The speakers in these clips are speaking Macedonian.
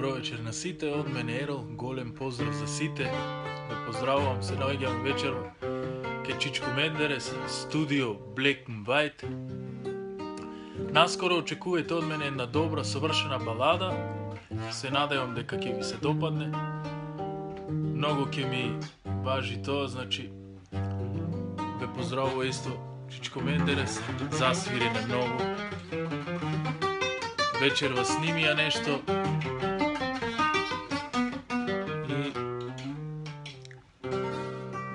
Добро вечер на сите, од мене Ерол, голем поздрав за сите. Ве поздравувам, се наоѓам вечер ке Чичко Мендерес, студио Black and White. Наскоро очекувајте од мене една добра, совршена балада. Се надевам дека ќе ви се допадне. Многу ќе ми важи тоа, значи ве поздравува исто Чичко Мендерес, засвирене многу. Вечер вас снимија нешто. И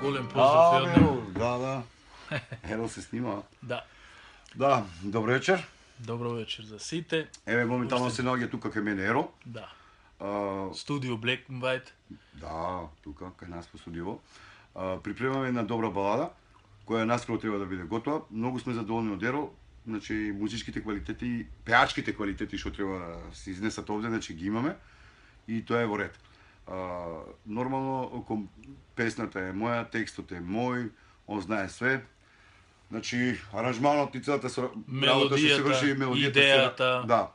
голем поздрав и од него. Да. Ерол се снима. Да. Да, добро вечер. Добро вечер за сите. Еве моментално се наоѓа тука кај мене Ерол. Да. Студио Black and White. Да, тука кај нас по студио. Припремаме една добра балада која наскоро треба да биде готова. Многу сме задоволни од Ерол. Значи музичките квалитети, пеачките квалитети што треба да се изнесат овде, значи ги имаме и тоа е во ред. Нормално песната е моја, текстот е мој, он знае све. Значи аранжманот и целата работа што се врши, мелодијата, идејата, да.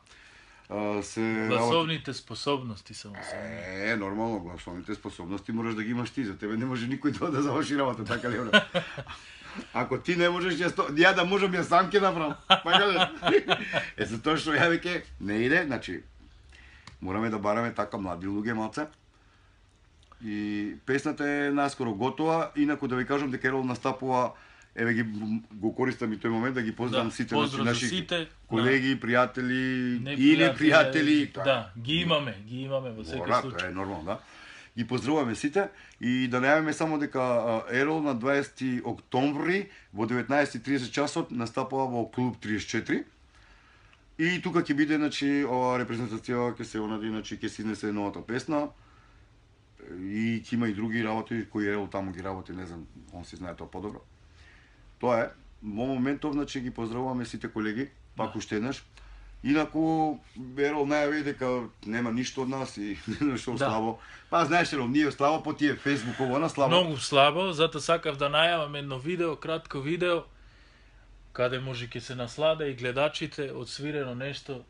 Гласовните способности само се. Нормално, гласовните способности можеш да ги имаш ти, за тебе не може никој да заврши работа, така ли? Ако ти не можеш, ја да можам, ја сам ќе направам. Затоа што ја веќе не иде, значи мораме да бараме така млади луѓе малце. И песната е наскоро готова, инаку да ви кажам дека Ерол настапува, еве го користам и тој момент да ги поздравам сите наши колеги, пријатели или пријатели. Да, ги имаме во секој случај. Тоа е нормално, да. Ги поздравуваме сите и да најавиме само дека Ерол на 20 октомври во 19:30 часот настапува во клуб 34. И тука ќе биде, значи, ова репрезентација ќе се онади, значи ќе се изнесе новата песна. И ќе има и други работи кои Ерол таму ги работи, не знам, он си знае тоа подобро. Тоа е. Во моментов, значи, ги поздравуваме сите колеги, пак уште еднаш. Инаку Ерол најави дека нема ништо од нас и нешто слабо. Па знаеш Ерол, ние слабо по тие фејсбуково на слабо. Многу слабо, затоа сакав да најавам едно видео, кратко видео, каде може ќе се насладе и гледачите од свирено нешто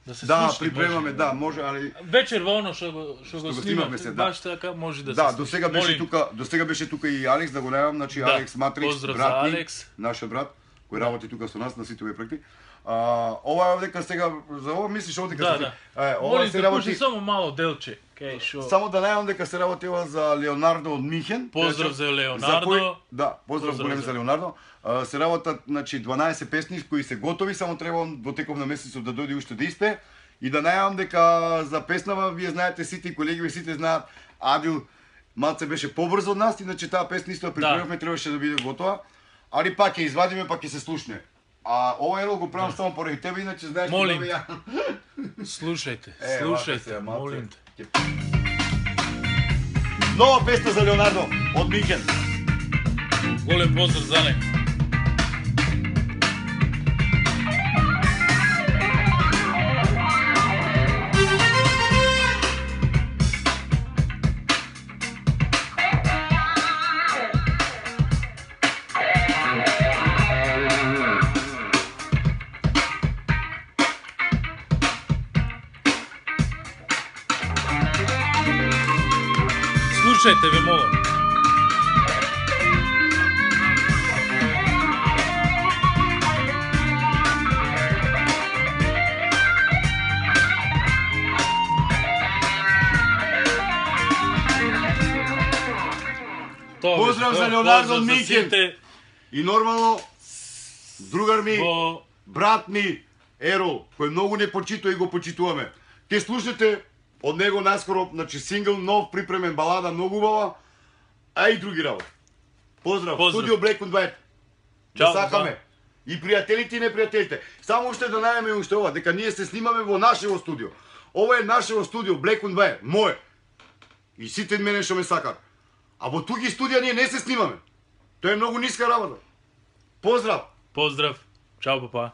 да се слушне. Да, припремаме, да, може, али вечер во оно што го снимаме, баш така може да се. Да, до сега беше тука и Алекс, да го најавам, значи Алекс Матрикс, брат ми, нашиот брат, кој работи тука со нас на сите овие проекти. Ова е дека сега за ова мислиш овде дека ова се работи само мало делче, кај шо. Само да најавам дека се работи ова за Леонардо од Михен. Поздрав за Леонардо. Да, поздрав голем за Леонардо. Се работат, значи 12 песни кои се готови, само треба во теков на месецот да дојде уште да испее и да најавам дека за песнава вие знаете сите колеги, сите знаат, Адил малце беше побрзо од нас, иначе таа песна исто припремавме, требаше да биде готова, али пак ќе извадиме, пак ќе се слушне. А ова Ерол го правам само поради тебе, иначе знаеш дека ја. Слушајте, молим те. Нова песна за Леонардо од Михен. Голем поздрав за него. Слушајте, ве молам. Поздрав за Леонардо Михен. И нормално другар ми, брат ми Ерол, кој многу не почитува и го почитуваме. Ке слушате од него наскоро, значи сингл нов припремен, балада многу убава, а и други работи. Поздрав. Студио Black and White. Да сакаме. И пријателите и непријателите. Само уште да најавиме уште ова, дека ние се снимаме во нашево студио. Ова е нашево студио Black and White, мое. И сите мене што ме сакат. А во туги студија ние не се снимаме. Тоа е многу ниска работа. Поздрав. Поздрав. Чао, папа.